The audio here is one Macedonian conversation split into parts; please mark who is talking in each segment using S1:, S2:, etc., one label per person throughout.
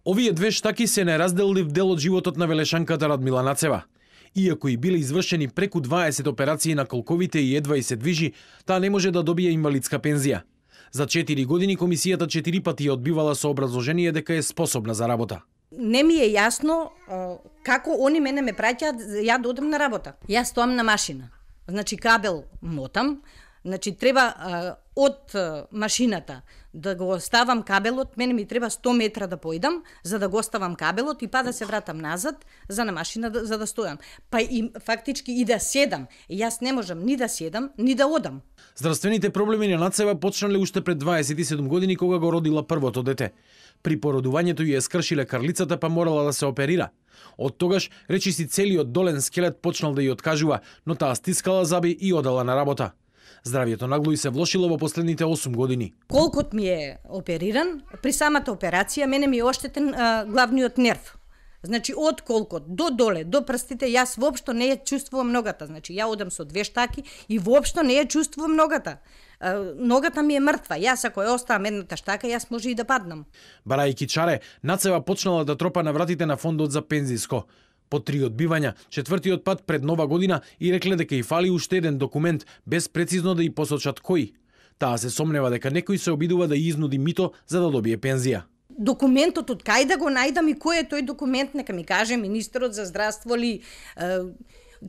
S1: Овие две штаки се неразделлив дел од животот на велешанката Радмила Нацева. Иако и биле извршени преку 20 операции на колковите и едва и се движи, таа не може да добие инвалидска пензија. За 4 години комисијата 4 пати ја одбивала со образложение дека е способна за работа.
S2: Не ми е јасно како они мене ме праќаат ја да одам на работа. Јас стоам на машина. Значи кабел мотам, значи треба од машината да го ставам кабелот, мене ми треба 100 метра да поидам за да го ставам кабелот и па да се вратам назад за на машина за да стојам. Па и фактички и да седам. Јас не можам ни да седам, ни да одам.
S1: Здравствените проблеми на Нацева почнале уште пред 27 години кога го родила првото дете. При породувањето ја скршиле карлицата па морала да се оперира. Од тогаш речиси целиот долен скелет почнал да ја откажува, но таа стискала заби и одела на работа. Здравието нагло и се влошило во последните 8 години.
S2: Колкот ми е опериран, при самата операција мене ми е оштетен главниот нерв. Значи од колкот до доле, до прстите, јас воопшто не ја чувствувам ногата. Значи ја одам со 2 штаки и воопшто не ја чувствувам ногата. Ногата ми е мртва. Јас ако ја оставам едната штака, јас може и да паднам.
S1: Барајки чаре, Нацева почнала да тропа на вратите на фондот за пензиско. По 3 одбивања, 4-тиот пат пред Нова година и рекле дека и фали уште еден документ, без прецизно да и посочат кој. Таа се сомнева дека некој се обидува да изнуди мито за да добие пензија.
S2: Документот од кај да го најдам и кој е тој документ, нека ми каже министерот за здравство ли,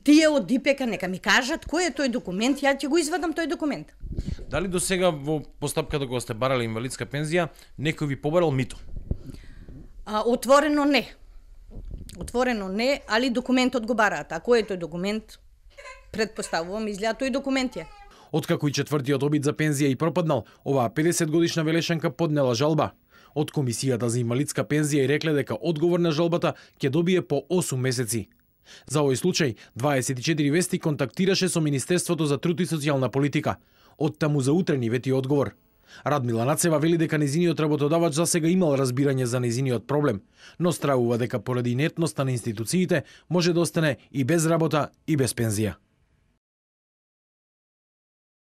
S2: тие од ДИПЕК нека ми кажат кој е тој документ, ја ќе го извадам тој документ.
S1: Дали до сега во постапката кога сте барале инвалидска пензија, некој ви побарал мито?
S2: Отворено не. Отворено не, али документот го бараат. А кој е тој документ? Предпоставувам, изгледа тој документ е.
S1: Откако и 4-тиот обид за пензија и пропаднал, оваа 50 годишна велешанка поднела жалба. Од комисијата за инвалидска пензија и рекле дека одговор на жалбата ќе добие по 8 месеци. За овој случај 24 вести контактираше со Министерството за труд и социјална политика. Од таму за утрени вети одговор. Радмила Нацева вели дека нејзиниот работодавач засега имал разбирање за нејзиниот проблем, но стравува дека поради инертноста на институциите може да остане и без работа и без пензија.